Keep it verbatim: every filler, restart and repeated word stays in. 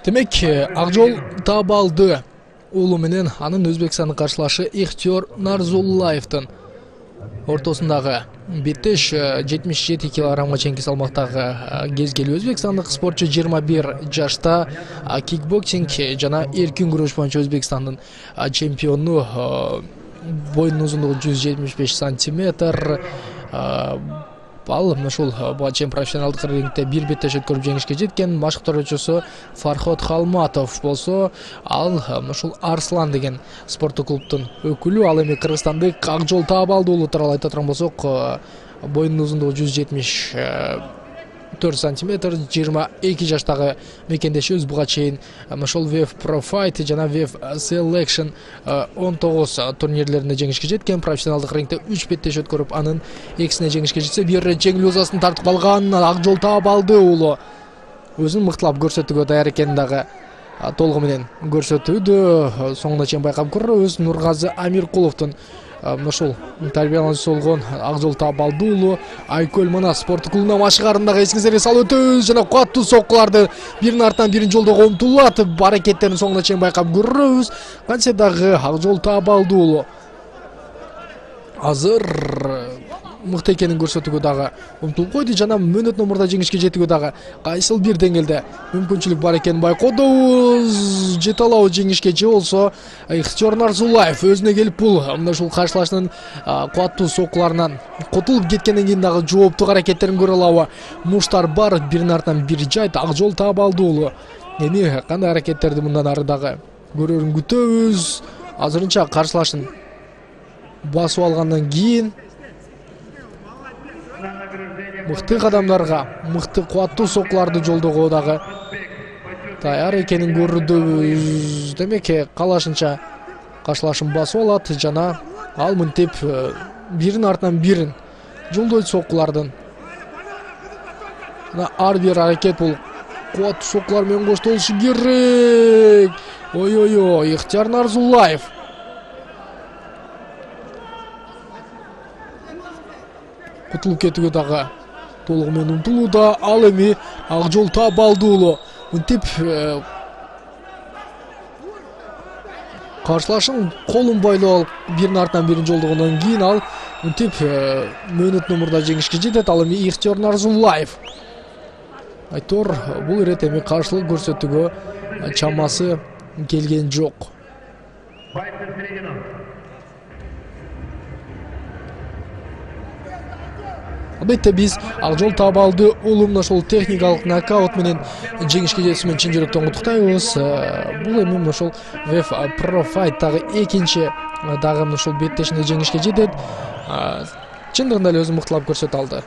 Демек, Акжол Табалды уулу менен анын Өзбекстандын каршылашы Ихтиёр Нарзуллаевдин ортосундагы беттеш жетимиш жети килограммга чейинки салмактагы кезгелүү өзбекстандык спортчу жыйырма бир жашта кикбоксинг жана эркин күрөш боюнча Өзбекстандын чемпиону, боюнун узундугу жүз жетимиш беш сантиметр. Ал ушул чейин профессионалдык рингде бир беттеш өткөрүп жеңишке жеткен. Машыктыруучусу Фархот Халматов болсо, ал ушул Арслан деген спорттук клубдун өкүлү. Ал эми кыргызстандык Акжол Табалды уулу тууралуу айта турган болсок, боюнун узундугу жүз жетимиш төрт сантиметр, жыйырма эки жаштагы мекендешибиз буга чейин ошол веб Pro Fight жана веб Selection он тогуз турнирлеринде жеңишке жеткен. Профессионалдык рингде үч беттеш өткөрүп, анын экисине жеңишке жетсе, бир жеңил узасын тартып алган Акжол Табалды уулу өзүн мыктылап көрсөтүүгө даяр экенин дагы толугу менен көрсөтүүдө. Соңуна чейин байкап көрөбүз. Нургазы Амиркуловдун ушул тарбиялануучусу болгон Акжол Табалды уулу Айкөл Манас спорттук клубунун машыгаарындагы эсиңиздерге салып өтөбүз. Жана куаттуу соккуларды биринин артынан бирин жолдого умтулат. Аракеттерин соңуна чейин байкап көрөбүз. Кантсе дагы Акжол Табалды уулу азыр мыкты экенин көрсөтүүгө дагы умтулуп койду. Жана мөөнөт номурда жеңишке жетүүгө дагы кайсыл бир деңгээлде мүмкүнчүлүк бар экенин байкоодубуз. Жете алабы жеңишке же болсо Ихтиёр Нарзуллаев өзүнө келип бул мына ушул каршылаштын куаттуу соккуларынан котулуп кеткенден кийин дагы жооптуу аракеттерин көрө алабы? Муштар бар, биринин артынан бир жайт Акжол Табалды уулу. Эми кандай аракеттерди мындан ары дагы көрөрүн күтөбүз. Азырынча каршылашын басып алгандан кийин мыкты кадамдарга, мыкты куаттуу соккуларды жолдоого дагы даяр экенин көрдөбүз. Демек, калашынча каршылашын басып алат жана ал мынтип биринин артынан бирин жолдойт соккулардын. Ар бир аракет бул куаттуу соккулар менен коштолушу керек. Ой-ой-ой, Ихтиёр Нарзуллаев кутулуп кетүүгө дагы толугу менен умтулууда. Ал эми Акжол Табалды уулу мынтип каршылашын колун байлап алып биринин артынан бирин жолдогондон кийин ал мынтип мөөнөт номурда жеңишке жетет. Ал эми Ихтиёр Нарзуллаев. Айтор бул ирет эми каршылык көрсөтүүгө чамасы келген жок. Албетте биз Акжол Табалды уулун ошол техникалык нокаут менен жеңишке жетүүсүнөн чын жүрөктөн куттуктайбыз. Бул эми ошол веб Pro Fight дагы экинчи дагы ошол беттешинде жеңишке жетет. Чындыгында эле өзүн мыктылап көрсөтө алды.